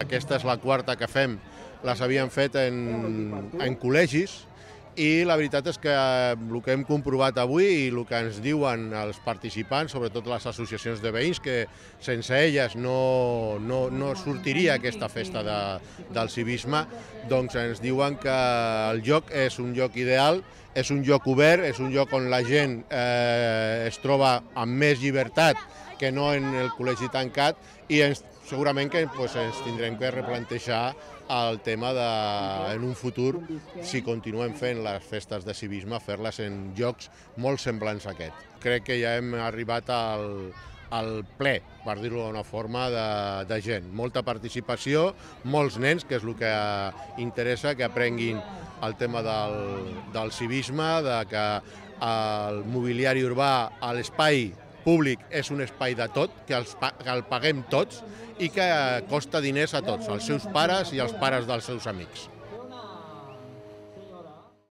Aquesta és la quarta que fem, les havíem fet en col·legis, i la veritat és que el que hem comprovat avui i el que ens diuen els participants, sobretot les associacions de veïns, que sense elles no sortiria aquesta festa del civisme, doncs ens diuen que el lloc és un lloc ideal, és un lloc obert, és un lloc on la gent es troba amb més llibertat que no en el col·legi tancat, i segurament que ens tindrem que replantejar el tema de, en un futur, si continuem fent les festes de civisme, fer-les en llocs molt semblants a aquest. Crec que ja hem arribat al ple, per dir-ho d'una forma, de gent. Molta participació, molts nens, que és el que interessa, que aprenguin el tema del civisme, de que el mobiliari urbà, l'espai públic és un espai de tot, que el paguem tots i que costa diners a tots, als seus pares i als pares dels seus amics.